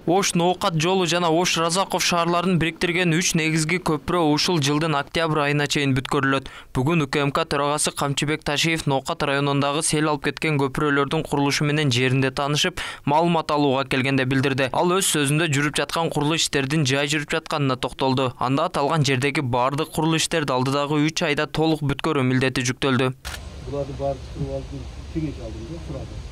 Ош Ноокат жолу жана Ош Разаков шаарларын бириктирген 3 негизги көпүрө ушул жылдын октябрь айына чейин бүткөрүлөт. Бүгүн УКМК төрагасы Камчыбек Ташиев Ноокат районундагы сел алып кеткен көпүрөлөрдүн курулушу менен жеринде таанышып, маалымат алууга келгенде билдирди. Ал өз сөзүндө жүрүп жаткан курулуш иштердин жай жүрүп жатканына токтолду. Анда аталган жердеги бардык курулуш иштерди алдыдагы 3 айда толук бүткөрүү милдети жүктөлдү. Буларды бардык кеңеш алдым да, сурады.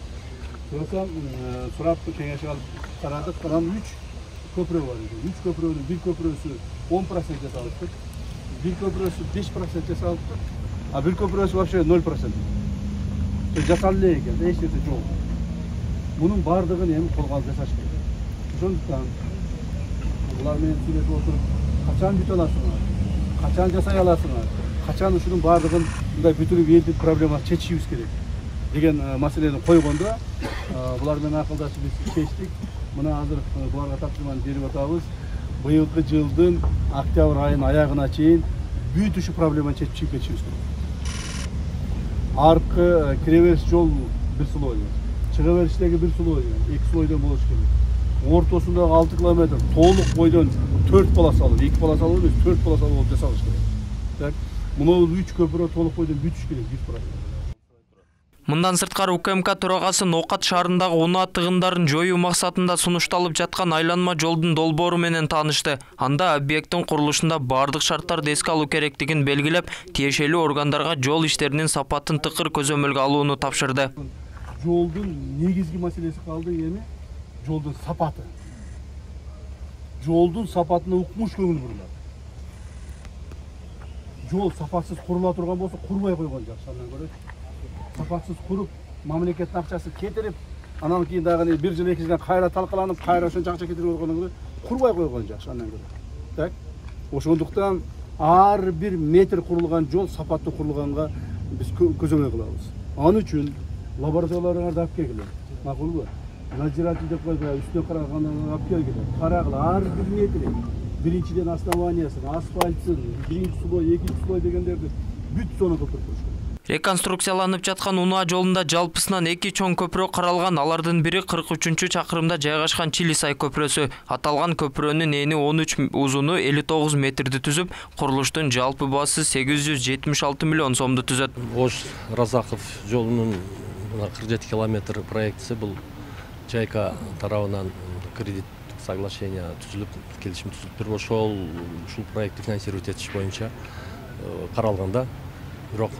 Сурап кеңеш алып карадык. Анан 3 көпүрө бар экен. 3 көпүрөнүн бир көпүрөсү 10% жасалыптыр. Бир көпүрөсү 5% жасалыптыр. А бир көпүрөсү вообще 0%. Жасалып эле экен, эч нерсе жок. Мунун бардыгын эми колго алып жасаш керек. Ошондуктан булар менен сүйлөшүп отуруп, качан бүтө аласыңар? Качан жасай аласыңар? Качан ушунун бардыгын мындай бүтүрүп элдин проблемасын чечишибиз керек деген маселени койгондо, булар менен акылдашып биз чечтик. Мына азыр буларга тапшырманы берип атабыз. Быйылкы жылдын октябрь айынын аягына чейин бүт ушу проблеманы чечип кетишибиз керек. Аркы киребериш жол бир слой, чыга бериштеги бир слой, 2 слойдон болуш керек. Ортосундагы 6 километр толук бойдон 4 полосалуу, 2 полосалуу эмес, 4 полосалуу болуп жасалыш керек. Так, мына 3 көпүрө толук бойдон бүтүш керек 100%. Мындан сырткары УКМК төрагасы Ноокат шаарындагы унаа тыгындарын жоюу максатында сунушталып жаткан айланма жолдун долбоору менен таанышты. Анда объекттин курулушунда бардык шарттарды эске алуу керектигин белгилеп, тиешелүү органдарга жол иштеринин сапатын тыкыр көзөмөлгө алууну тапшырды. Жолдун негизги маселеси калды эми жолдун сапаты. Жолдун сапатына укмуш көңүл бурулат. Жол сапатсыз курула турган болсо курбай койгон жакшы, андан көрө сапатсыз куруп, мамлекеттин акчасын кетирип, анан кийин дагы 1 жыл 2 жылдан кайра талкаланып, кайра ошончо акча кетирип койгондон көрө курбай койгон жакшы, андан көрө. Так, ошондуктан ар бир метр курулган жол сапаттуу курулганга биз көзөмөл кылабыз. Ал үчүн лабораторияларыңарды алып келгиле. Макулбу? Надзиратель деп койгула, үстүнө карагандан алып келгиле. Карагыла ар бир метри. Биринчиден основаниясын, асфальтсын, биринчи слой, экинчи слой дегендерди бүт сону көпүрүп туруш керек. Реконструкцияланып жаткан унаа жолунда жалпысынан 2 чоң көпүрө каралган. Алардын бири 43-чакырымда жайгашкан Чилисай көпүрөсү. Аталган көпүрөнүн эни 13, узуну 59 метрди түзүп, курулуштун жалпы баасы 876 миллион сомду түзөт. Ош Разаков жолунун 47 километр проектиси бул Жайка тарабынан кредит соглашение түзүлүп, келишим түзүлүп, ушул проектти финансировать этиш боюнча каралганда, бирок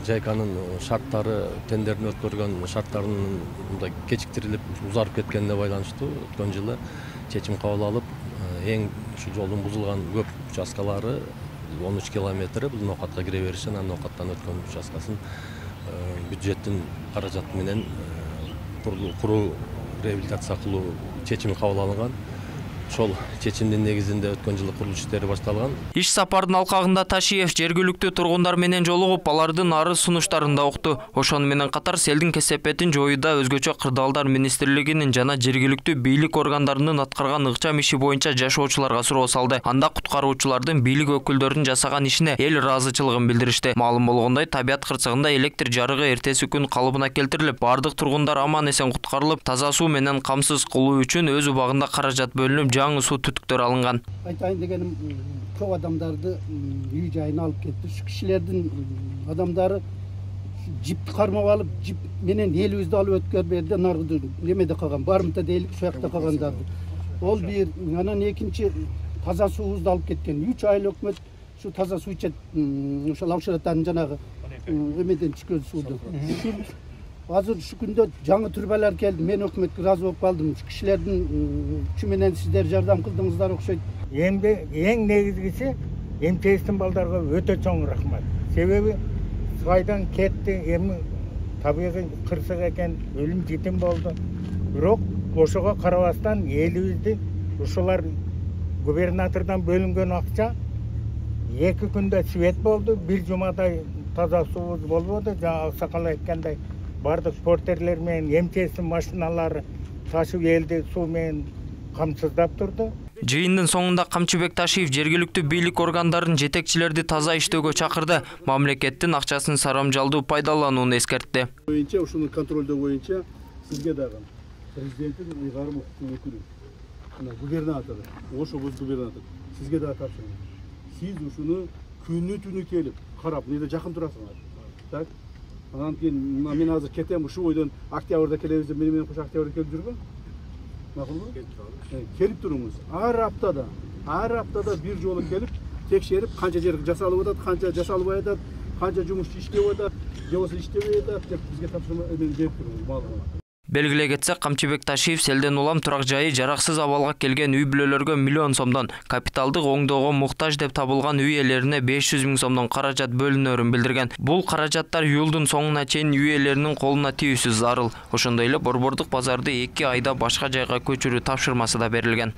Жайканын шарттары, тендердин өткөргөн шарттарынын мындай кечиктирилип, узарып кеткенине байланыштуу өткөн жылы чечим кабыл алып, эң ушу жолдун бузулган көп участкалары 13 километри бул Ноокатка кире бериши, анан Ноокаттан өткөн участкасын бюджеттин каражаты менен куруу, реабилитация кылуу чечими кабыл алынган. Ошол чечимдин негизинде өткөн жылы курулуш иштери башталган. Иш сапардын алкагында Ташиев жергиликтүү тургундар менен жолугуп, алардын арыз сунуштарын да укту. Ошону менен катар селдин кесепетин жоюуда өзгөчө кырдаалдар министрлигинин жана жергиликтүү бийлик органдарынын аткарган ыкчам иши боюнча жашоочуларга суроо салды. Анда куткаруучулардын бийлик өкүлдөрүнүн жасаган ишине эл ыраазычылыгын билдиришти. Маалым болгондой, табият кырсыгында электр жарыгы эртеси күн калыбына келтирилип, бардык тургундар аман эсен куткарылып, таза суу менен камсыз кылуу үчүн өз убагында каражат бөлүнүп, жаңы суу түтүктөр алынган. Айтайын дегеним, көп адамдарды үй жайына алып кетти. Ушу кишилердин адамдары жипти кармап алып, жип менен элибизди алып өткөрүп берди, наргы немеде калган, барымта дейли, ушул жакта калгандарды. Ол бир, анан экинчи таза суубузду алып кеткен. 3 ай өкмөт ушу таза суу ичет, ошол Алшыраттан жанагы эмеден түшкөн сууду. Азыр ушу күндө жаңы түрбалар келди. Мен өкмөткө ыраазы болуп калдым. Ушу кишилердин күчү менен сиздер жардам кылдыңыздар окшойт. Эми эң негизгиси МЧСтин балдарга өтө чоң рахмат. Себеби Сайдан кетти, эми табигый кырсык экен, өлүм жетим болду. Бирок ошого карабастан элибизди ушулар губернатордон бөлүнгөн акча 2 күндө свет болду, 1 жумадай таза суубуз болбоду. Жана Аксакал айткандай, бардык портерлер менен МЧСтин машиналары ташып элди суу менен камсыздап турду. Жыйындын соңунда Камчыбек Ташиев жергиликтүү бийлик органдарын жетекчилерди таза иштөөгө чакырды. Мамлекеттин акчасын сарамжалдуу пайдаланууну эскертти. Ушуну контролдоо боюнча сизге дагы президенттин ыйгарым укуктуу өкүлү губернатор, Ош облус губернатор сизге да тапшырма. Сиз ушуну күнү түнү келип карап, неде жакын турасыңар. Так? Анан кийин мен азыр кетем, ушу бойдон октябрда келебиз деп менен кош октябрда келип жүргөн. Макулбу? Келип туруңуз. Ар аптада бир жолу келип текшерип, канча жер жасалып атат, канча жасалбай атат, канча жумушчу иштеп атат, же болбосо иштебей атат деп бизге тапшырма берип туруңуз, маалымат. Белгилей кетсек, Камчыбек Ташиев селден улам турак жайы жараксыз абалга келген үй бүлөлөргө 1 миллион сомдон, капиталдык оңдоого муктаж деп табылган үй ээлерине 500 000 сомдон каражат бөлүнөрүн билдирген. Бул каражаттар июлдун соңуна чейин үй ээлеринин колуна тийүүсү зарыл. Ошондой эле борбордук базарды 2 айда башка жайга көчүрүү тапшырмасы да берилген.